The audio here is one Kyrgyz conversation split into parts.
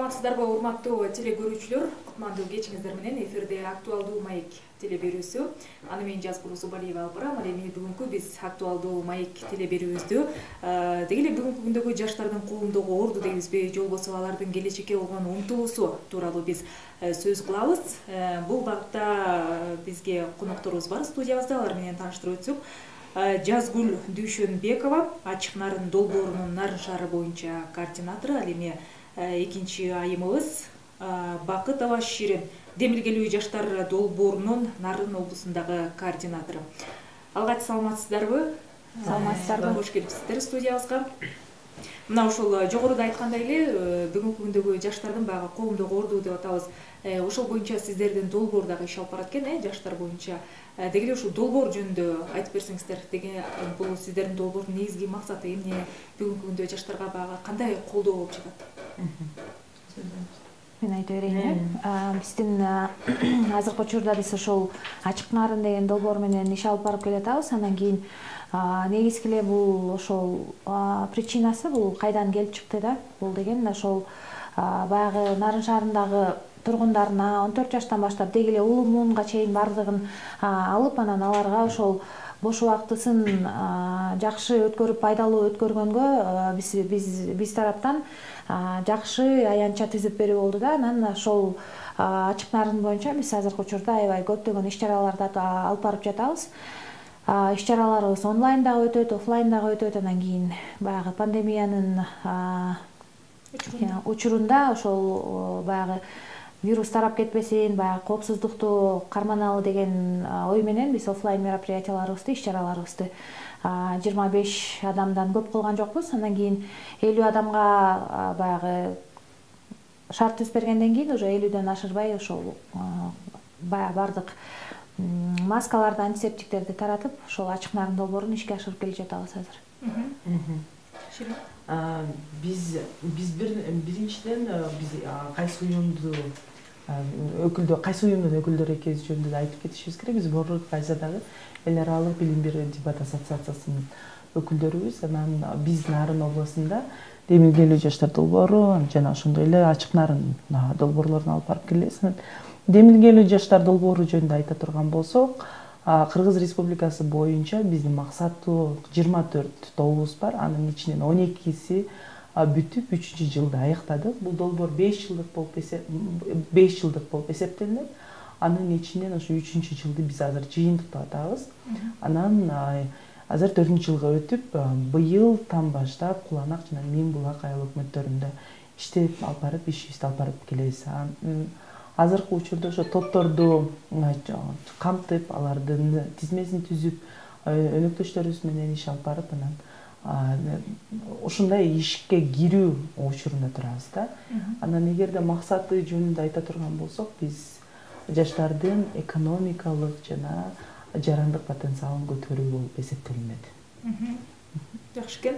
Саламатсыздарбы, урматтуу теле көрүүчүлөр? Кутмандуу кечиңиздер менен эфирде актуалдуу маек теле берүүсү. Аны мен Жазгул Зубалиева алып барам. Ал эми бүгүнкү биз актуалдуу маек теле берүүбүздү деги эле бүгүнкү күндөгү жаштардын колундогу орду дейбизби, же болбосо алардын келечекке болгон умтулуусу тууралуу биз сөз кылабыз. Бул багытта бизге конокторубуз бар студиябызда, алар менен тааныштырып өтсөк. Жазгүл Дүйшөнбекова, Ачык Нарын долбоорунун Нарын шаары боюнча координатору, ал эми экинчи айымыбыз Бакытова Ширин, демилгелүү жаштар долбоорунун Нарын облусундагы координатору. Алгач, саламатсыздарбы? Саламатсыздарбы. Кош келипсиздер студиябызга. Мына ушул жогоруда айткандай эле бүгүнкү күндөгү жаштардын баягы коомдогу орду деп атабыз. Ошол боюнча сиздердин долбоор дагы иш алып барат экен, жаштар боюнча. Деги эле ушул долбоор жөнүндө айтып берсеңиздер. Деги бул сиздердин долбоордун негизги максаты эмне? Бүгүнкү күндө жаштарга баягы кандай колдоо болуп жатат? Мен айта берейин. Биздин азыркы учурда биз ошол Ачык Нарын деген долбоор менен иш алып барып келатабыз. Андан кийин негизги эле бул ошол причинасы бул кайдан келип чыкты да? Бул деген ошол баягы Нарын шаарындагы тургундарына 14 жаштан баштап деги эле улуу муунга чейин бардыгын алып, анан аларга ошол бош убактысын жакшы өткөрүп, пайдалуу өткөргөнгө биз тараптан жакшы аянтча түзүп берүү болду да. Анан ошол Ачык Нарын боюнча биз азыркы учурда аябай көптөгөн иш-чараларды алып барып жатабыз. Иш-чараларыбыз онлайн дагы өтөт, офлайн дагы өтөт. Андан кийин баягы пандемиянын учурунда ошол баягы вирус тарап кетпесин, баягы коопсуздукту карманалы деген ой менен биз офлайн мероприятияларыбызды, иш-чараларыбызды 25 адамдан көп кылган жокпуз. Андан кийин 50 адамга баягы шарт түзүп бергенден кийин уже 50дөн ашырбай ошол бардык маскаларды, антисептиктерди таратып, ошол Ачык Нарын долбоорун ишке ашырып келе жатабыз азыр. Биз биринчиден биз кайсы уюмдун өкүлдөрү экенибиз жөнүндө айтып кетишибиз керек. Биз Борлук Кайзадагы эл аралык билим берүү дебат ассоциациясынын өкүлдөрүбүз. Анан биз Нарын областында демилгелүү жаштар долбоору жана ошондой эле Ачык Нарын долбоорлорун алып барып келебиз. Демилгелүү жаштар долбоору жөнүндө айта турган болсок, Кыргыз Республикасы боюнча биздин максаттуу 24 добубуз бар. Анын ичинен 12си бүтүп 3-жылды аяктадык. Бул долбоор 5 жылдык болуп эсептелинет. Анын ичинен ошо 3-жылды биз азыр жыйынтыктап атабыз. Анан азыр 4-жылга өтүп, быйылдан баштап Куланак жана Мен Булак айыл өкмөттөрүндө иштеп алып барып, ишибизди алып барып келебиз. Азыркы учурда ошо топторду камтып, алардын тизмесин түзүп, өнөктөштөрүбүз менен иш алып барып, анан ушундай ишке кирүү учурунда турабыз да. Анан эгерде максаты жөнүндө айта турган болсок, биз жаштардын экономикалык жана жарандык потенциалын көтөрүү болуп эсептелинет. Жакшы экен.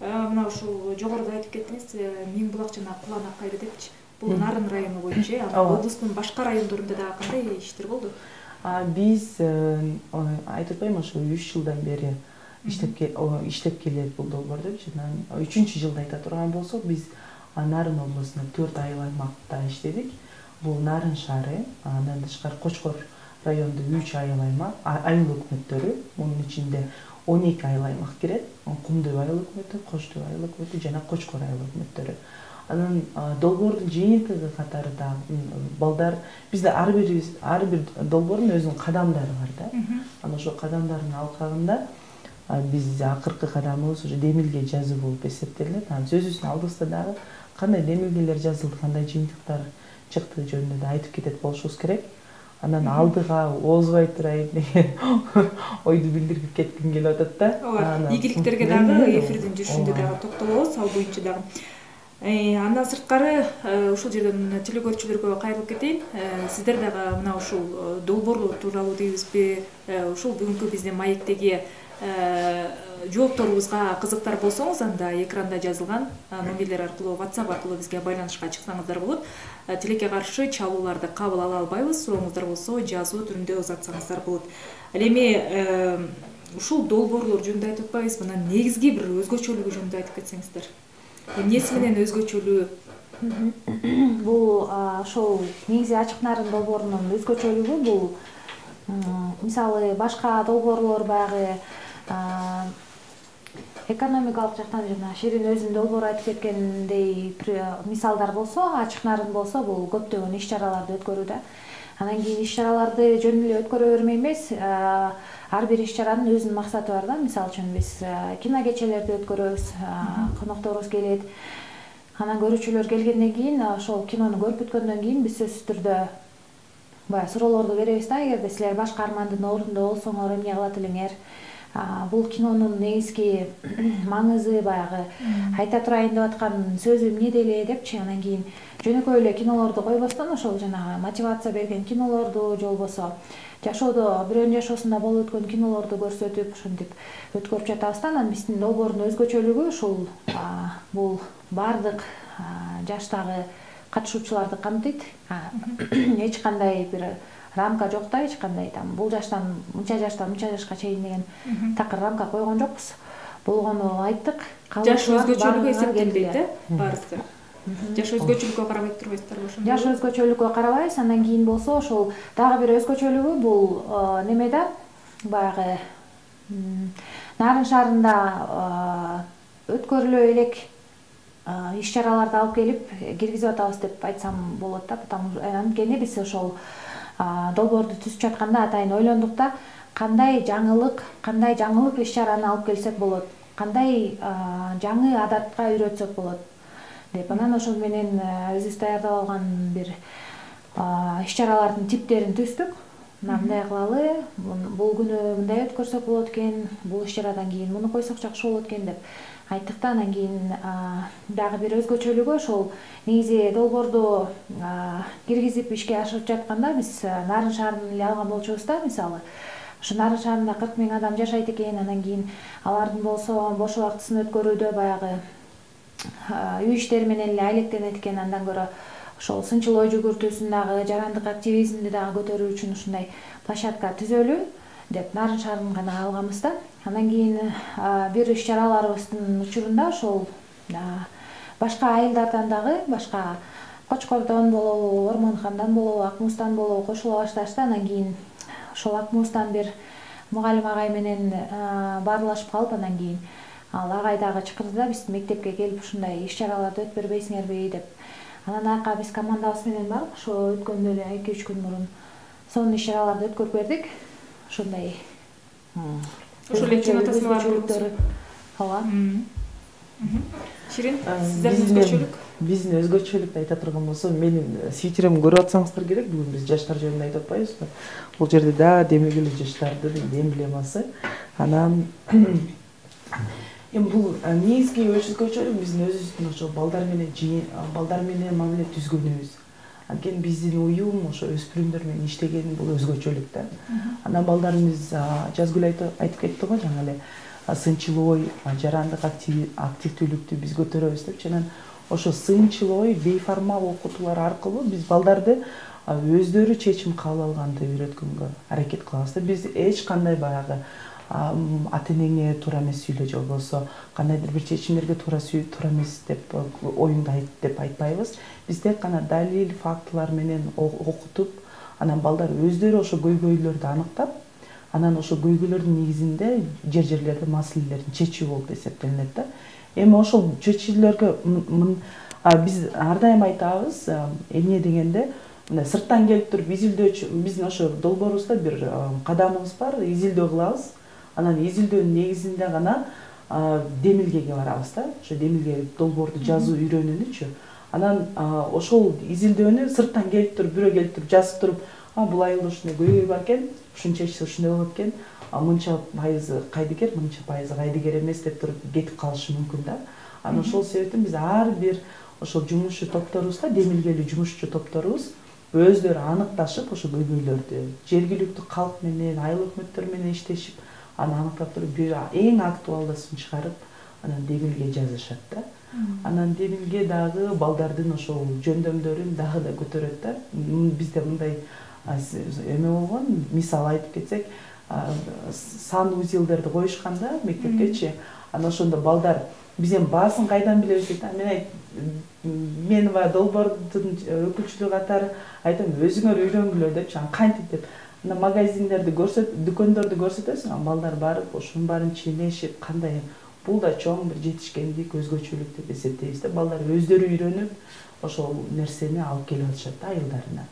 Мына ушул жогоруда айтып кеттиңиз, Мен Булак жана Куланак айыл депчи. Бул Нарын району боюнча, облустун башка райондорунда дагы кандай иштер болду? Биз айтып атпайм, ошо 3 жылдан бери иштеп келет бул долбоор депчи. 3-жылда айта турган болсок, биз Нарын облусунда 4 айыл аймакта иштедик. Бул Нарын шаары, андан тышкары Кочкор районунда 3 айыл аймак, айыл өкмөттөрү, мунун ичинде 12 айыл аймак кирет. Кумдуу айыл өкмөтү, Коштуу айыл өкмөтү жана Кочкор айыл өкмөттөрү. Анан долбоордун жыйынтыгы катары да балдар бизде ар бир долбоордун өзүнүн кадамдары бар да. Анан ошол кадамдардын алкагында биз акыркы кадамыбыз уже демилге жазуу болуп эсептелинет. Анан сөзүбүздүн алдыбызда дагы кандай демилгелер жазылды, кандай жыйынтыктар чыкты жөнүндө да айтып кетет болушубуз керек. Анан алдыга озбой турайын деген ойду билдирип кетким келип атат да. Ийгиликтерге дагы эфирдин жүрүшүндө дагы токтолобуз, ал боюнча дагы. Андан сырткары ушул жерден теле көрүүчүлөргө кайрылып кетейин. Сиздер дагы мына ушул долбоорлор тууралуу дейбизби, ушул бүгүнкү биздин маектеги жоопторубузга кызыктар болсоңуз, анда экранда жазылган номерлер аркылуу, WhatsApp аркылуу бизге байланышка чыксаңыздар болот. Тилекке каршы чалууларды кабыл ала албайбыз. Сурооңуздар болсо жазуу түрүндө узатсаңыздар болот. Ал эми ушул долбоорлор жөнүндө айтып атпайбызбы? Мына негизги бир өзгөчөлүгү жөнүндө айтып кетсеңиздер. Эмнеси менен өзгөчөлүү? Бул ошол негизи ачык нарын долбоорунун өзгөчөлүгү бул мисалы башка долбоорлор баягы экономикалык жактан жана Ширин өзүнүн долбоору айтып кеткендей мисалдар болсо, ачык нарын болсо бул көптөгөн иш-чараларды өткөрүүдө. Анан кийин иш-чараларды жөн эле өткөрө бермей эмес, ар бир иш-чаранын өзүнүн максаты бар да. Мисалы үчүн биз кино кечелерди өткөрөбүз, конокторубуз келет. Анан көрүүчүлөр келгенден кийин, ошол кинону көрүп бүткөндөн кийин биз сөзсүз түрдө баягы суроолорду беребиз да. Эгерде силер башка армандын ордунда болсоңор эмне кылат элеңер? Бул кинонун негизги маңызы баягы айта турайын деп аткан сөзү эмнеде эле депчи. Анан кийин жөнөкөй эле кинолорду койбостон ошол жанагы мотивация берген кинолорду же болбосо жашоодо бирөөнүн жашоосунда болуп өткөн кинолорду көрсөтүп, ошентип өткөрүп жатабыз да. Анан биздин долбоордун өзгөчөлүгү ушул бул баардык жаштагы катышуучуларды камтыйт. Эч кандай бир рамка жок да, эч кандай там бул жаштан мынча жашка чейин деген такыр рамка койгон жокпуз. Болгону айттык. Жаш өзгөчөлүгү эсептелбейт да баарысы. Жаш өзгөчөлүккө карабай турбайсыздарбы ошондо? Жаш өзгөчөлүккө карабайбыз. Андан кийин болсо ошол дагы бир өзгөчөлүгү бул неме да, баягы Нарын шаарында өткөрүлө элек иш-чараларды алып келип киргизип атабыз деп айтсам болот да. Анткени биз ошол долбоорду түзүп жатканда атайын ойлондук да, кандай жаңылык иш-чараны алып келсек болот, кандай жаңы адатка үйрөтсөк болот деп. Анан ошол менен өзүбүз даярдап алган бир иш-чаралардын типтерин түздүк. Мындай кылалы, бул күнү мындай өткөрсөк болот экен, бул иш-чарадан кийин муну койсок жакшы болот экен деп айттык да. Анан кийин дагы бир өзгөчөлүгү ошол негизи долбоорду киргизип ишке ашырып жатканда биз Нарын шаарын эле алган болчубуз да. Мисалы ошо Нарын шаарында 40 000 адам жашайт экен. Анан кийин алардын болсо бош убактысын өткөрүүдө баягы үй иштери менен эле айлектенет экен. Андан көрө ошол сынчыл ой жүгүртүүсүн дагы, жарандык активизмди дагы көтөрүү үчүн ушундай площадка түзөлү деп Нарын шаарын гана алганбыз да. Андан кийин бир иш-чараларыбыздын учурунда ошол башка айылдардан дагы, башка Кочкордон болобу, Ормонхандан болобу, Ак Мууздан болобу кошула башташты. Анан кийин ошол Ак Мууздан бир мугалим агай менен баарлашып калып, анан кийин ал агай дагы чакырды да, биздин мектепке келип ушундай иш-чараларды өтүп бербейсиңерби деп. Анан аяка биз командабыз менен барып, ошо өткөндө эле 2-3 күн мурун сонун иш-чараларды өткөрүп бердик. Ошондой ошол эле кино тасмалары. Ооба. Ширин, сиздердин өзгөчөлүк? Биздин өзгөчөлүктү айта турган болсом, менин свитеримди көрүп атсаңыздар керек. Бүгүн биз жаштар жөнүндө айтып атпайбызбы? Бул жерде да демек эле жаштардын эмблемасы. Анан бул негизги өзгөчөлүк биздин өзүбүздүн ошо балдар менен мамиле түзгөнүбүз. Анткени биздин уюм ошо өспүрүмдөр менен иштеген бул өзгөчөлүк да. Анан балдарыбыз Жазгүл айтып кетти го жаңы эле сынчыл ой, жарандык активдүүлүктү биз көтөрөбүз депчи. Анан ошо сынчыл ой, бейформал окутуулар аркылуу биз балдарды өздөрү чечим кабыл алганды үйрөткөнгө аракет кылабыз да. Биз эч кандай баягы ата-энеңе туура эмес сүйлө же болбосо кандайдыр бир чечимдерге туура эмес деп оюңду айт деп айтпайбыз. Биз тек гана далил, фактылар менен окутуп, анан балдар өздөрү ошо көйгөйлөрдү аныктап, анан ошо көйгөйлөрдүн негизинде жерлерде маселелерин чечүү болуп эсептелинет да. Эми ошол чечүүлөргө биз ар дайым айтабыз, эмне дегенде, мындай сырттан келип туруп изилдөөчү, биздин ошо долбоорубузда бир кадамыбыз бар, изилдөө кылабыз. Анан изилдөөнүн негизинде гана демилгеге барабыз да. Ошо демилге долбоорду жазуу үйрөнүүнүчү. Анан ошол изилдөөнү сырттан келип туруп, бирөө келип туруп жазып туруп, бул айылда ушундай көйгөй бар экен, ушунча ичсе ушундай болот экен, мынча пайызы кайдыгер, мынча пайызы кайдыгер эмес деп туруп кетип калышы мүмкүн да. Анан ошол себептен биз ар бир ошол жумушчу топторубузда, демилгелүү жумушчу топторубуз өздөрү аныкташып, ошо көйгөйлөрдү жергиликтүү калк менен, айыл өкмөттөр менен иштешип, аны аныктап туруп, бир эң актуалдасын чыгарып, анан демилге жазышат да. Анан демилге дагы балдардын ошол жөндөмдөрүн дагы да көтөрөт да. Бизде мындай эме болгон, мисал айтып кетсек, сан узелдерди коюшканда мектептечи, анан ошондо балдар биз эми баасын кайдан билебиз дейт. Мен баягы долбоордун өкүлчүлүгү катары айтам, өзүңөр үйрөнгүлө депчи, анан кантип деп. Анан магазиндерди дүкөндөрдү көрсөтөсүң, анан балдар барып ошонун баарын ченешип, кандай бул да чоң бир жетишкендик, өзгөчөлүк деп эсептейбиз да. Балдар өздөрү үйрөнүп ошол нерсени алып келип атышат да айылдарына.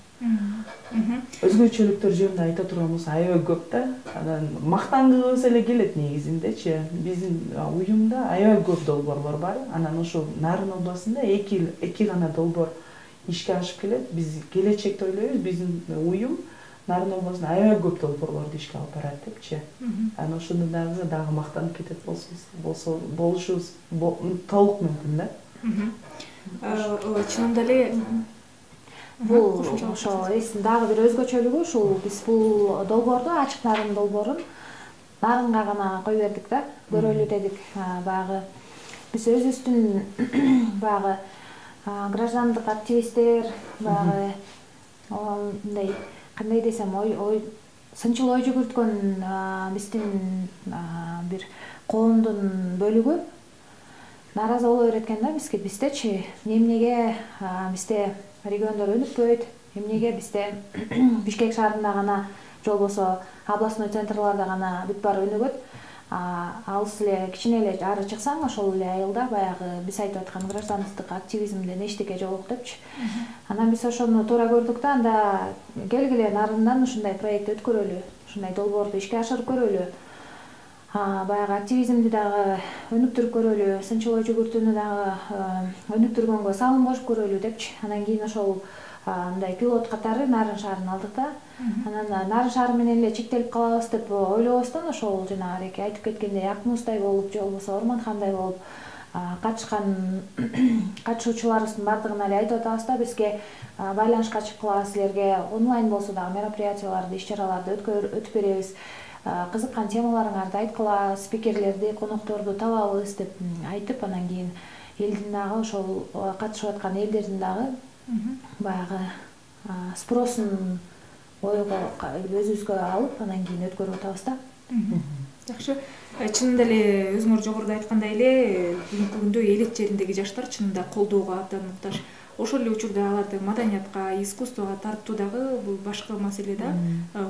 Өзгөчөлүктөр жөнүндө айта турган болсо аябай көп да. Анан мактангыбыз эле келет негизиндечи. Биздин уюмда аябай көп долбоорлор бар. Анан ошол Нарын областында эки гана долбоор ишке ашып келет. Биз келечекте ойлойбуз, биздин уюм Нарын областында аябай көп долбоорлорду ишке алып барат депчи. Анан ошондо дагы мактанып кетет болушубуз толук мүмкүн да. Чынында эле бул ошо дагы бир өзгөчөлүгү ушул, биз бул долбоорду, ачык нарын долбоорун нарынга гана кой бердик да, көрөлү дедик. Баягы биз өзүбүздүн баягы граждандык активисттер, баягы мындай кандай десем, сынчыл ой жүгүрткөн биздин бир коомдун бөлүгү нааразы боло берет экен да биздечи. Эмнеге бизде региондор өнүкпөйт, эмнеге бизде Бишкек шаарында гана же болбосо областной центрларда гана бүт баары өнүгөт, алыс эле кичине эле ары чыксаң ошол эле айылда баягы биз айтып аткан гражданский активизмден эчтеке жок депчи. Анан биз ошону туура көрдүк да, анда келгиле Нарындан ушундай проект өткөрөлү, ушундай долбоорду ишке ашырып көрөлү. Баягы активизмди дагы өнүктүрүп көрөлү, сынчыл ой жүгүртүүнү дагы өнүктүргөнгө салым кошуп көрөлү депчи. Анан кийин ошол мындай пилот катары Нарын шаарын алдык да. Анан Нарын шаары менен эле чектелип калабыз деп ойлобостон ошол жанагы айтып кеткендей Акмуздай болуп же болбосо Орманхандай болуп катышкан катышуучуларыбыздын баардыгына эле айтып атабыз да, бизге байланышка чыккыла, силерге онлайн болсо дагы мероприятияларды, иш-чараларды өтүп беребиз. Кызыккан темаларыңарды айткыла, спикерлерди, конокторду табабыз деп айтып, анан кийин элдин дагы ошол катышып аткан элдердин дагы баягы спросун ойго өзүбүзгө алып, анан кийин өткөрүп атабыз да. Жакшы. Чынында эле өзүңөр жогоруда айткандай эле бүгүнкү күндө элек жериндеги жаштар чынында колдоого абдан муктаж. Ошол эле учурда аларды маданиятка, искусствого тартуу дагы бул башка маселе да.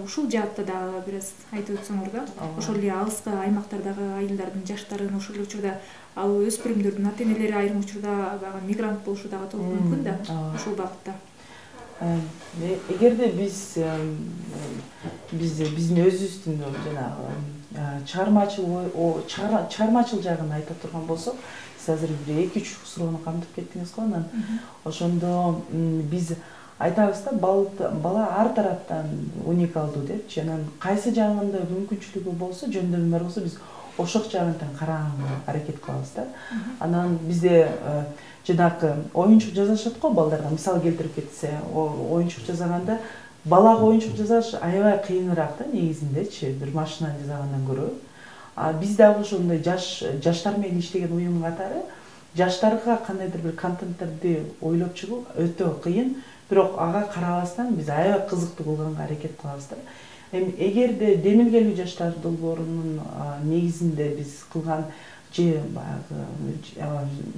Ушул жаатта дагы бир аз айтып өтсөңөр да. Ошол эле алыскы аймактардагы айылдардын жаштарын, ошол эле учурда ал өспүрүмдөрдүн ата-энелери айрым учурда баягы мигрант болушу дагы толук мүмкүн да ушул багытта. Эгерде биздин өзүбүздүн жанагы чыгармачыл жагын айта турган болсок, сиз азыр бир 2-3 суроону камтып кеттиңиз го. Анан ошондо биз айтабыз да, бала ар тараптан уникалдуу депчи. Анан кайсы жагында мүмкүнчүлүгү болсо, жөндөмү бар болсо, биз ошол жагынан караганга аракет кылабыз да. Анан бизде жанагы оюнчук жазышат го балдарга, мисал келтирип кетсе, оюнчук жасаганда балага оюнчук жасаш аябай кыйыныраак да негизиндечи, бир машинаны жасагандан көрө. Биз дагы ошондой жаштар менен иштеген уюм катары жаштарга кандайдыр бир контенттерди ойлоп чыгуу өтө кыйын, бирок ага карабастан биз аябай кызыктуу кылганга аракет кылабыз да. Эми эгерде демилгелүү жаштар долбоорунун негизинде биз кылган же баягы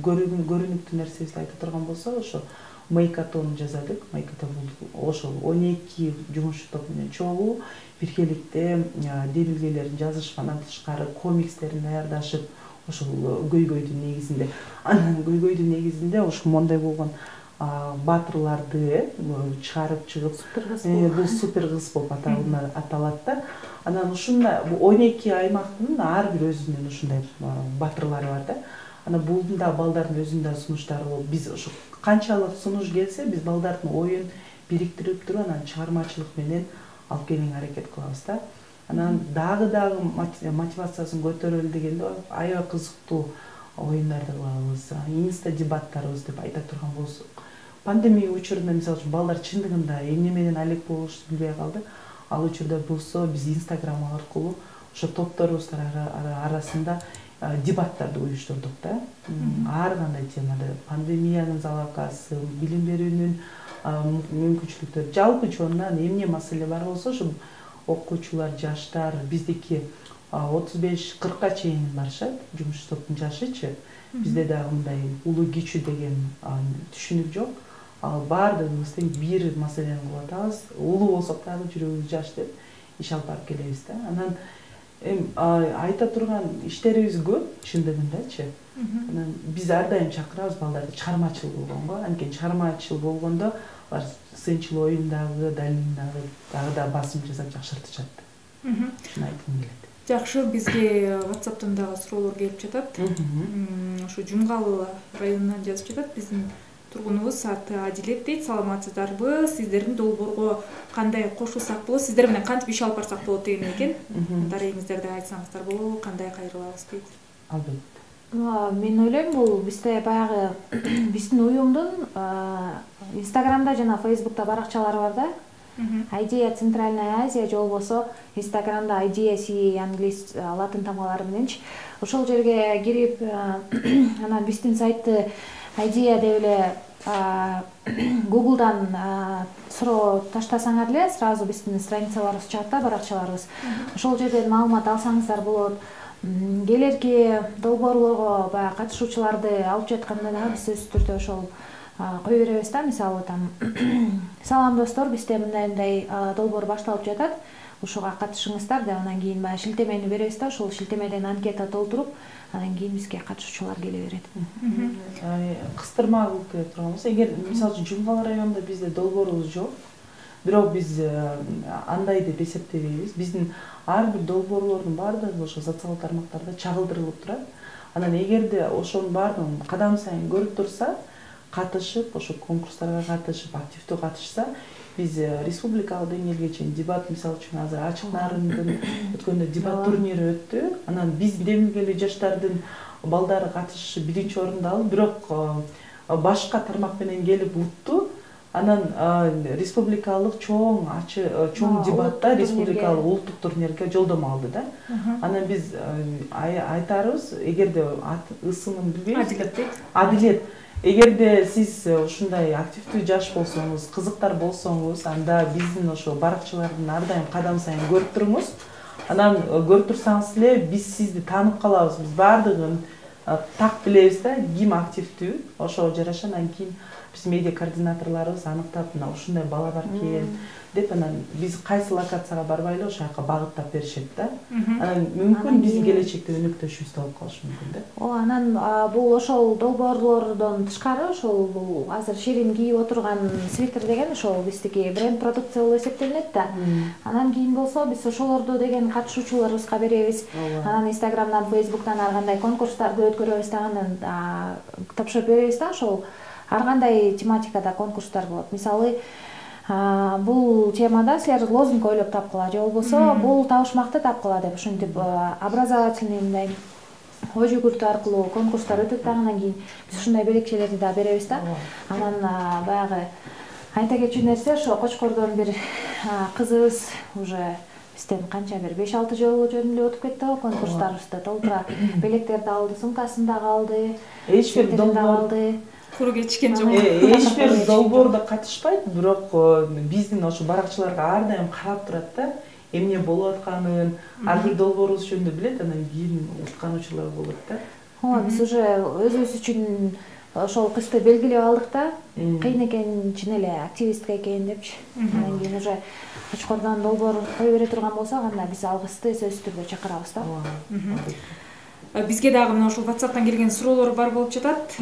көрүнүктүү нерсебизди айта турган болсок, ошо майкатон жасадык. Майкатон ошол 12 жумушчу топ менен чогуу биргеликте демилгелерин жазышып, андан тышкары комикстерин даярдашып, ошол көйгөйдүн негизинде. Анан көйгөйдүн негизинде ошол мондай болгон баатырларды чыгарып чыгып, бул супер кыз болуп аталат да. Анан ушундай 12 аймактын ар бир өзүнүн ушундай баатырлары бар да. Анан булдун да балдардын өзүнүн да сунуштары болуп, биз ошо канчалык сунуш келсе, биз балдардын оюн бириктирип туруп, анан чыгармачылык менен алып келгенге аракет кылабыз да. Анан дагы мотивациясын көтөрөлү дегенде аябай кызыктуу оюндарды кылабыз. Инста дебаттарыбыз деп айта турган болсок, пандемия учурунда мисалы үчүн балдар чындыгында эмне менен алек болушун билбей калды. Ал учурда болсо биз Инстаграм аркылуу ошо топторубуздун арасында дебаттарды уюштурдук да. Ар кандай темада пандемиянын залалкасы, билим берүүнүн мүмкүнчүлүктөрү, жалпы чоңунан эмне маселе бар болсо, ошо окуучулар, жаштар биздики 35-40 чейин барышат. Жумуш топтун жашычы. Бизде дагы мындай улуу кичүү деген түшүнүк жок. Ал баардыгыбыз тең бир маселени кылып атабыз. Улуу болсок дагы жүрөгүбүз жаш деп иш алып барып келебиз да. Анан айта турган иштерибиз көп, чындыгындачы. Анан биз ар дайым чакырабыз балдарды чыгармачыл болгонго. Анткени чыгармачыл болгондо алар сынчыл оюндагы, далилдагы дагы да басым жасап жакшыртышат. Шуну айткым келет. Жакшы, бизге WhatsApp'тан дагы суроолор келип жатат. Ушу Жумгал районунан жазып жатат. Биздин тургунубуз аты Адилет дейт. Саламатсыздарбы? Сиздердин долбоорго кандай кошулсак болот? Сиздер менен кантип иш алып барсак болот деген экен. Дарегиңиздерди айтсаңыздар болобу? Кандай кайрылабыз дейт. Албетте. Мен ойлойм, бул бизде баягы биздин уюмдун Инстаграмда жана Фейсбукта баракчалары бар да. Идея Центральная Азия же болбосо Инстаграмда IDEA англис латын тамгалары мененчи. Ошол жерге кирип, анан биздин сайтты IDEA деп эле Google'дан суроо таштасаңар эле сразу биздин страницаларыбыз чыгат да, баракчаларыбыз. Ошол жерден маалымат алсаңыздар болот. Келерки долбоорлорго баягы катышуучуларды алып жатканда дагы биз өз түрдө ошол кое беребиз да. Мисалы там салам достор, бизде мындай долбоор башталып жатат, ушуга катышыңыздар деп анан кийин баягы шилтемени беребиз да. Ошол шилтемеден анкета толтуруп, анан кийин бизге катышуучулар келе берет. Кыстырма кылып келе турган болсо, эгер мисалы үчүн Жумгал районунда бизде долбоорубуз жок, бирок биз андай деп эсептебейбиз. Биздин ар бир долбоорлордун баардыгы ошо социалдык тармактарда чагылдырылып турат. Анан эгерде ошонун баардыгын кадам сайын көрүп турса, катышып, ошо конкурстарга катышып, активдүү катышса, биз республикалык деңгээлге чейин дебат, мисалы үчүн азыр Ачык Нарындын өткөндө дебат турнири өттү. Анан биз демилгелүү жаштардын балдары катышып биринчи орунду алып, бирок башка тармак менен келип утту. Анан республикалык чоң дебатта республикалык улуттук турнирге жолдомо алды да. Анан биз айтарыбыз, эгерде ысымын билбейбиз. Адилет. Эгерде сиз ушундай активдүү жаш болсоңуз, кызыктар болсоңуз, анда биздин ошо баракчалардын ар дайым кадам сайын көрүп туруңуз. Анан көрүп турсаңыз эле биз сизди таанып калабыз. Биз баардыгын так билебиз да, ким активдүү, ошого жараша анан кийин биз медиа координаторлорубуз аныктап, мына ушундай бала бар экен деп, анан биз кайсы локацияга барбайлы ошол жака багыттап беришет да. Анан мүмкүн биздин келечекте өнөктөшүбүз да болуп калышы мүмкүн да. Анан бул ошол долбоорлордон тышкары ошол бул азыр Ширин кийип отурган свитер деген ошол биздики бренд продукция болуп эсептелинет да. Анан кийин болсо биз ошолорду деген катышуучуларыбызга беребиз. Анан Инстаграмдан, Фейсбуктан ар кандай конкурстарды өткөрөбүз да, анан тапшырып беребиз да. Ошол ар кандай тематикада конкурстар болот. Мисалы, бул темада силер лозунг ойлоп тапкыла же болбосо бул табышмакты тапкыла деп ушинтип образовательный мындай ой жүгүртүү аркылуу конкурстар өтөт да. Анан кийин биз ушундай белекчелерди да беребиз да. Анан баягы айта кетчү нерсе, ошо Кочкордон бир кызыбыз уже бизден канча бир 5-6 жолу жөнүндө өтүп кетти го, конкурстарыбызды толтура белектерди алды, сумкасын дагы алды, эч бир долбоор алды. Куру кечкен жок. Эч бир долбоордо катышпайт, бирок биздин ошо баракчаларга ар дайым карап турат да. Эмне болуп атканын, ар бир долбоорубуз жөнүндө билет, анан кийин уткануучулар болот да. Биз уже өзүбүз үчүн ошол кызды белгилеп алдык да. Кыйын экен, чын эле активистка экен депчи. Анан кийин уже Кочкордон долбоор кое бере турган болсок, анда биз ал кызды сөзсүз түрдө чакырабыз да. Бизге дагы мына ушул WhatsApp'тан келген суроолор бар болуп жатат.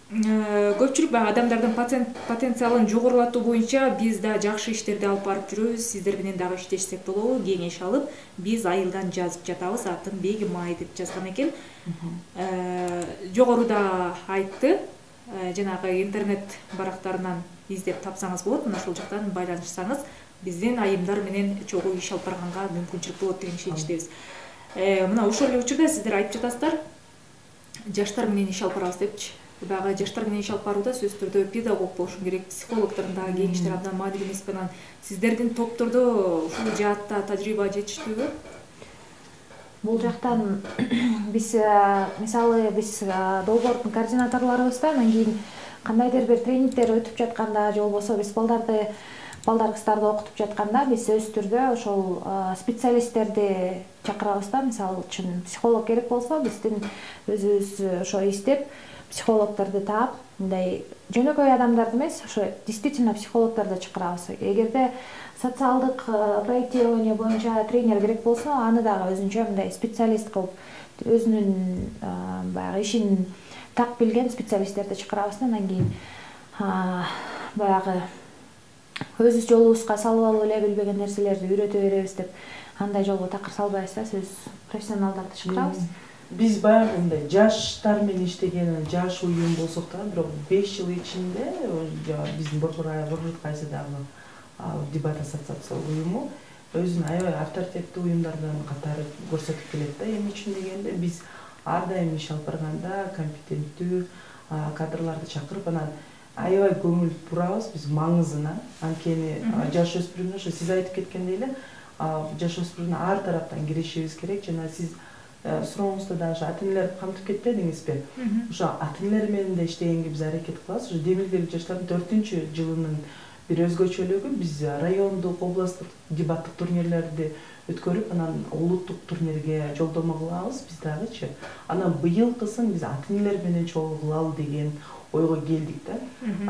Көпчүлүк баягы адамдардын потенциалын жогорулатуу боюнча биз да жакшы иштерди алып барып жүрөбүз. Сиздер менен дагы иштешсек болобу? Кеңеш алып, биз айылдан жазып жатабыз. Атын Бегимай деп жазган экен. Жогоруда айтты. Жанагы интернет барактарынан издеп тапсаңыз болот. Мына ошол жактан байланышсаңыз, биздин айымдар менен чогуу иш алып барганга мүмкүнчүлүк болот деген ишеничтебиз. Мына ошол эле учурда сиздер айтып жатасыздар, жаштар менен иш алып барабыз депчи. Баягы жаштар менен иш алып барууда сөзсүз түрдө педагог болушу керек, психологдордун дагы кеңештери абдан маанилүү эмес пе? Анан сиздердин топтордо ушул жаатта тажрыйба жетиштүүбү? Бул жактан биз мисалы биз долбоордун координаторлорубуз да, анан кийин кандайдыр бир тренингдер өтүп жатканда же болбосо биз балдарды балдар кыздарды окутуп жатканда биз өз түрдө ошол специалисттерди чакырабыз да. Мисалы үчүн психолог керек болсо биздин өзүбүз ошо издеп психологдорду таап, мындай жөнөкөй адамдарды эмес, ошо действительно психологдорду чакырабыз. Эгерде социалдык проектирование боюнча тренер керек болсо, аны дагы өзүнчө мындай специалист кылып, өзүнүн баягы ишин так билген специалисттерди чакырабыз да. Андан кийин баягы өз жолубузга салып алып эле билбеген нерселерди үйрөтө беребиз деп андай жолго такыр салбайбыз да. Сөз профессионалдарды чакырабыз. Биз баягы мындай жаштар менен иштеген жаш уюм болсок да, бирок 5 жыл ичинде биздин борбор кайсы дагы дебат ассоциация уюму өзүнүн аябай авторитеттүү уюмдардан катары көрсөтүп келет да. Эмне үчүн дегенде биз ар дайым иш алып барганда компетенттүү кадрларды чакырып, анан аябай көңүл бурабыз биз маңызына. Анткени жаш өспүрүмдөр, ошо сиз айтып кеткендей эле, жаш өспүрүмдөр ар тараптан киришибиз керек. Жана сиз сурооңузда да ошо ата-энелерди камтып кетпедиңизби? Ошо ата-энелер менен да иштегенге биз аракет кылабыз. Ошо демилгелүү жаштардын 4-жылынын бир өзгөчөлүгү биз райондук, областтык дебаттык турнирлерди өткөрүп, анан улуттук турнирге жолдомо кылабыз биз дагычы. Анан быйылкысын биз ата-энелер менен чогуу кылалы деген ойго келдик да.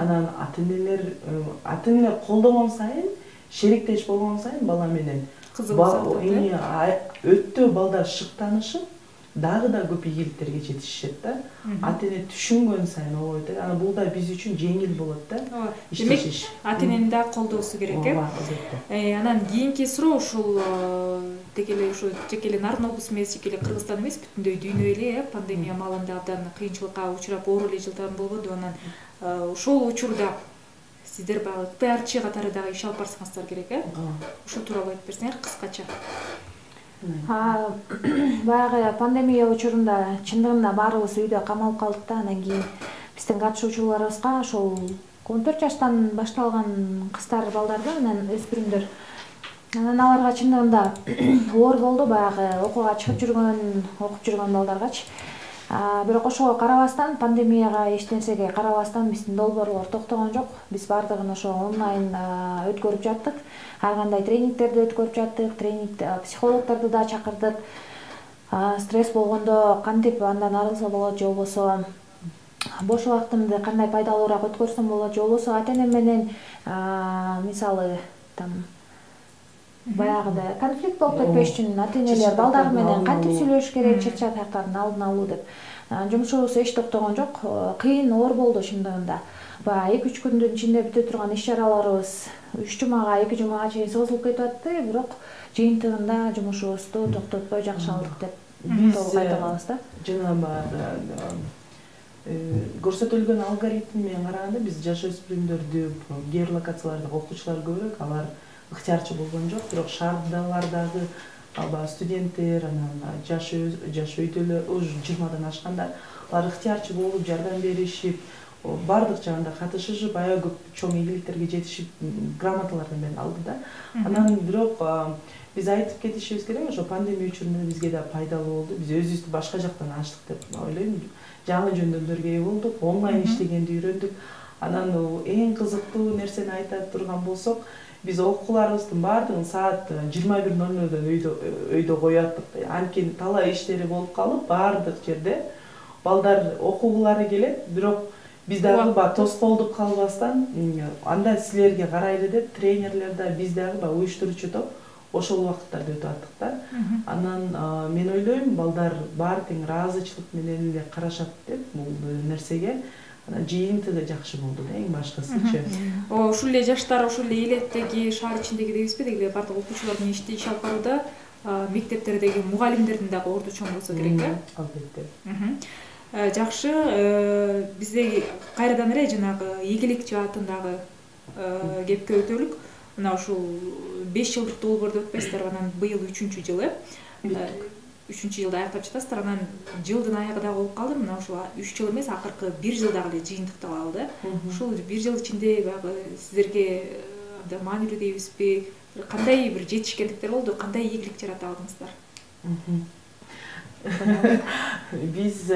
Анан ата-энелер колдогон сайын, шериктеш болгон сайын бала менен өтө балдар шыктанышып, дагы да көп ийгиликтерге жетишет да. Ата-эне түшүнгөн сайын ойт. Анан бул да биз үчүн жеңил болот да. Демек, ата-энени да колдоосу керек Анан кийинки суроо ушул тек эле ушу жеке эле Нарын облусу эмес, жеке эле Кыргызстан эмес, бүтүндөй дүйнө эле пандемия маалында абдан кыйынчылыкка учурап оор эле жылдар болбоду. Анан ошол учурда сиздер баягы пиарчы катары дагы иш алып барсаңыздар керек Ушул тууралуу айтып берсеңер кыскача. Баягы пандемия учурунда чындыгында баарыбыз үйдө камалып калдык да. Андан кийин биздин катышуучуларыбызга ошол 14 жаштан башталган кыздар, балдарды, анан өспүрүмдөр, анан аларга чындыгында оор болду баягы окууга чыгып окуп жүргөн балдаргачы. Бирок ошого карабастан, пандемияга эч нерсеге карабастан биздин долбоорлор токтогон жок. Биз бардыгын ошо онлайн өткөрүп жаттык. Ар кандай тренингтерди өткөрүп жаттык, психологдорду да чакырдык. Стресс болгондо кантип андан арылса болот, же болбосо бош убактымды кандай пайдалуураак өткөрсөм болот, же болбосо ата-энем менен мисалы баягыда конфликт болуп кетпеш үчүн ата-энелер балдар менен кантип сүйлөшүш керек, чыр-чатактардын алдын алуу деп. Жумушубуз эч токтогон жок. Кыйын, оор болду чындыгында. Баягы 2-3 күндүн ичинде бүтө турган иш-чараларыбыз 3 жумага, 2 жумага чейин созулуп кетип атты, бирок жыйынтыгында жумушубузду токтотпой жакшы алдык деп толук айта алабыз да. Жана көрсөтүлгөн алгоритм менен караганда биз жаш өспүрүмдөрдү геолокацияларда окуучулар көбүрөөк, алар ыктыярчы болгон жок, бирок шаардагылардагы студенттер, анан жаш өйдөлөр, уже 20-дан ашкандар, алар ыктыярчы болуп, жардам беришип, бардык жагында катышышып, аябай көп чоң ийгиликтерге жетишип, грамоталардан берип алды да. Анан бирок биз айтып кетишибиз керек, ошо пандемия учурунда бизге да пайдалуу болду. Биз өзүбүздү башка жактан ачтык деп ойлойм. Жаңы жөндөмдөргө ээ болдук, онлайн иштегенди үйрөндүк. Анан эң кызыктуу нерсени айта турган болсок, биз окууларыбыздын баардыгын саат 21:00 өйдө коюп аттык. Анткени талай иштери болуп калып, баардык жерде балдар окугулары келет, бирок биз дагы тоскоолдук калбастан, анда силерге карайлы деп тренерлер да, биз дагы уюштуруучу топ ошол убакыттарда өтүп аттык да. Анан мен ойлойм, балдар баары тең ыраазычылык менен эле карашат деп бул нерсеге. Анан жыйынтыгы жакшы болду да, эң башкысычы. Ушул эле жаштар, ушул эле элеттеги, шаар ичиндеги дейбизби, деги бардык окуучулар менен иш алып барууда мектептердеги мугалимдердин дагы орду чоң болсо керек Албетте. Жакшы, бизде кайрадан эле жанагы ийгилик жаатындагы кепке өтөлүк. Мына ушул 5 жылдык долбоорду өтпөйсүздөр, анан быйыл 3-жыл 3-жылды аяктап жатасыздар, анан жылдын аягы да болуп калды. Мына ушул 3 жыл эмес, акыркы 1 жыл дагы эле жыйынтыкталалы да. Ушул 1 жыл ичинде баягы сиздерге маанилүү дейбизби, кандай бир жетишкендиктер болду, кандай ийгилик жарата алдыңыздар? Биз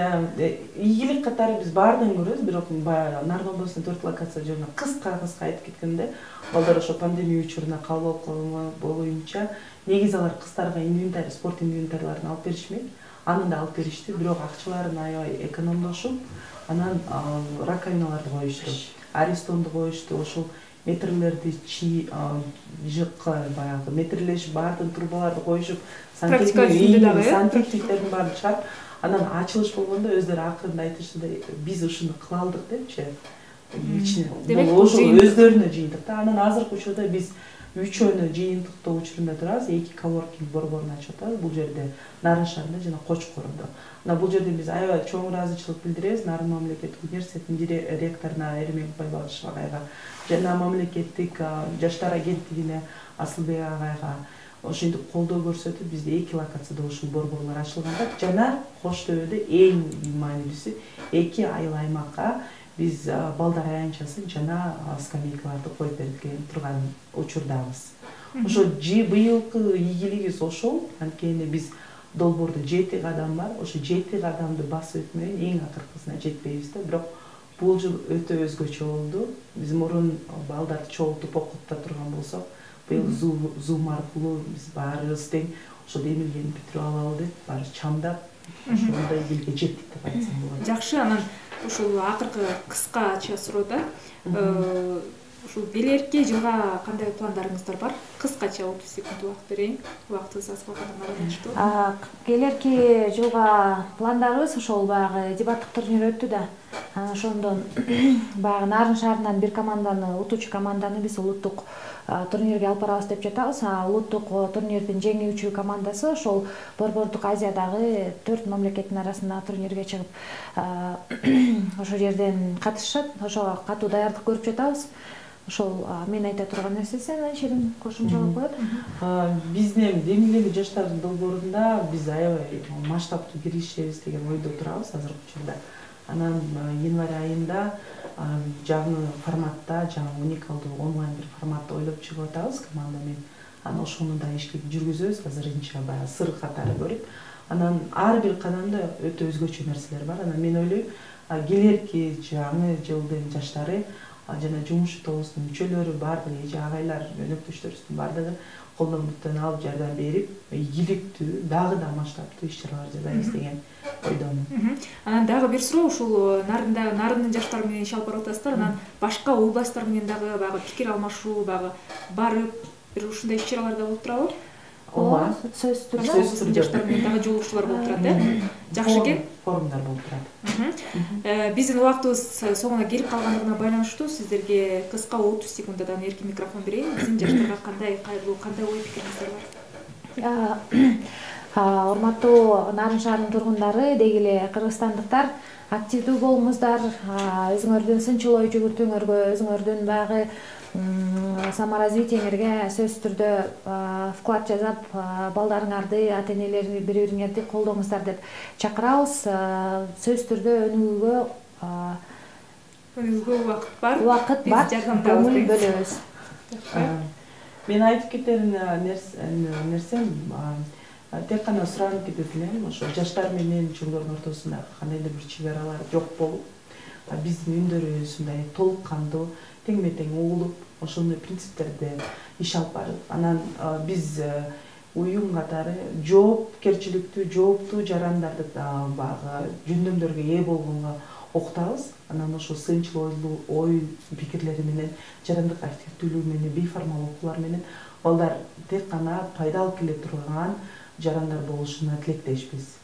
ийгилик катары биз баардыгын көрөбүз, бирок баягы Нарын облусунун 4 локация жерине кыска айтып кеткенде, балдар ошо пандемия учуруна кабыл алып боюнча негизи алар кыздарга инвентарь, спорт инвентарларын алып беришмек. Аны да алып беришти, бирок акчаларын аябай экономдошуп, анан раковиналарды коюшту, аристонду коюшту, ошол метрлерди жыкка баягы метрлешип баардык трубаларды коюшуп, сантехниктердин баарын чыгарып, анан ачылыш болгондо өздөрү акырында айтышты да, биз ушуну кыла алдык депчи. Ошол өздөрүнө жыйынтык да. Анан азыркы учурда биз үчөөнү жыйынтыктоо учурунда турабыз, 2 коворкинг борборун ачып атабыз. Бул жерде Нарын шаарында жана Кочкордо. Мына бул жерде биз аябай чоң ыраазычылык билдиребиз Нарын мамлекеттик университетинин ректоруна Эремек Байбалышев агайга жана мамлекеттик жаштар агенттигине Асылбек агайга ошентип колдоо көрсөтүп, бизде 2 локацияда ушул борборлор ачылганда жана Кош Төбөдө эң маанилүүсү 2 айыл аймакка биз балдар аянтчасын жана скамейкаларды коюп берилген турган учурдабыз. Ошо быйылкы ийгилигибиз ошол. Анткени биз долбоордо 7 кадам бар. Ошо 7 кадамды басып өтмөйүн эң акыркысына жетпейбиз да. Бирок бул жыл өтө өзгөчө болду. Биз мурун балдарды чогултуп окута турган болсок, быйыл Zoom аркылуу биз баарыбыз тең ошо демилгени бүтүрүп алалы деп, баары чамдап, ошондой элге жеттик деп айтсам болот. Жакшы, анан ушул акыркы кыскача суроода ушул келерки жылга кандай пландарыңыздар бар? Кыскача 30 секунд убакыт берейин. Убактыбыз аз калганына байланыштуу. Келерки жылга пландарыбыз ошол баягы дебаттык турнир өттү да. Ошондон баягы Нарын шаарынан бир команданы, утуучу команданы биз улуттук турнирге алып барабыз деп жатабыз. Улуттук турнирдин жеңүүчү командасы ошол борбордук Азиядагы 4 мамлекеттин арасында турнирге чыгып, ошол жерден катышат. Ошого катуу даярдык көрүп жатабыз. Ошол мен айта турган нерсе. Сен Айшерим кошумчалап коет. Биздин демилгелүү жаштар долбоорунда биз аябай масштабтуу киришебиз деген ойдо турабыз азыркы учурда. Анан январь айында жаңы форматта, жаңы уникалдуу онлайн бир форматты ойлоп чыгып атабыз команда менен. Анан ошону да ишке жүргүзөбүз, азырынча баягы сыр катары көрүп. Анан ар бир кадамда өтө өзгөчө нерселер бар. Анан мен ойлойм, келерки жаңы жылдын жаштары жана жумуш тобубуздун мүчөлөрү баардыгы, эже агайлар, өнөктөштөрүбүздүн баардыгы колдон буттан алып жардам берип, ийгиликтүү, дагы да масштабтуу иш-чаралар жасайбыз деген ойдомун. Анан дагы бир суроо, ушул Нарындын жаштары менен иш алып барып атасыздар, анан башка областтар менен дагы баягы пикир алмашуу, баягы барып бир ушундай иш-чараларда болуп турабы? Ооба, сөзсүз түрдө. Жаштар менен дагы жолугушуулар болуп турат, э? Жакшы экен. Форумдар болуп турат. Биздин убактыбыз соңуна келип калгандыгына байланыштуу сиздерге кыска 30 секунддан эркин микрофон берейин. Биздин жаштарга кандай кайрылуу, кандай ой пикириңиздер бар? Урматтуу Нарын шаарынын тургундары, деги эле кыргызстандыктар, активдүү болуңуздар, өзүңөрдүн сынчыл ой жүгүртүүңөргө, өзүңөрдүн баягы саморазвитиеңерге сөзсүз түрдө вклад жасап, балдарыңарды, ата-энелерди, бири-бириңерди колдоңуздар деп чакырабыз. Сөзсүз түрдө өнүгүүгө убакыт бар. Убакыт бар, көңүл бөлөбүз. Мен айтып кетер нерсем тек гана суранып кетет элем, ошо жаштар менен чоңдордун ортосунда кандайдыр бир чек аралар жок болуп, биздин үндөрүбүз ушундай толук кандуу, тең-метең угулуп, ошондой принциптерде иш алып барып, анан биз уюм катары жоопкерчиликтүү, жооптуу жарандарды баягы жөндөмдөргө ээ болгонго окутабыз. Анан ошо сынчыл ой пикирлери менен, жарандык активдүүлүгү менен, бейформал окуулар менен балдар тек гана пайда алып келе турган жарандар болушуна тилектешпиз.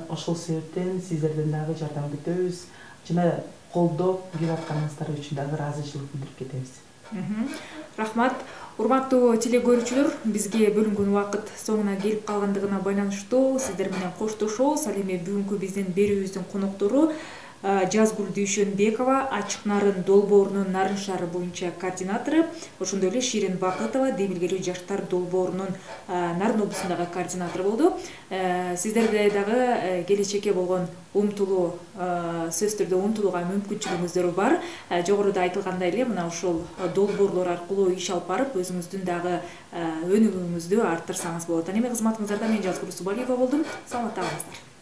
Ошол себептен сиздерден дагы жардам күтөбүз жана колдоп келип атканыңыздар үчүн дагы ыраазычылык билдирип кетебиз. Рахмат. Урматтуу телекөрүүчүлөр, бизге бөлүнгөн убакыт соңуна келип калгандыгына байланыштуу сиздер менен коштошобуз. Ал эми бүгүнкү биздин берүүбүздүн коноктору Жазгүл Дүйшөнбекова ачык нарын долбоорунун нарын шаары боюнча координатору, ошондой эле Ширин Бакытова демилгелүү жаштар долбоорунун Нарын облусундагы координатору болду. Сиздерде дагы келечекке болгон умтулуу, сөзсүз түрдө умтулууга мүмкүнчүлүгүңүздөр бар. Жогоруда айтылгандай эле мына ушул долбоорлор аркылуу иш алып барып, өзүңүздүн дагы өнүгүүңүздү арттырсаңыз болот. Эми кызматыңыздарда мен Жазгүл Субалиева болдум. Саламатта калыңыздар.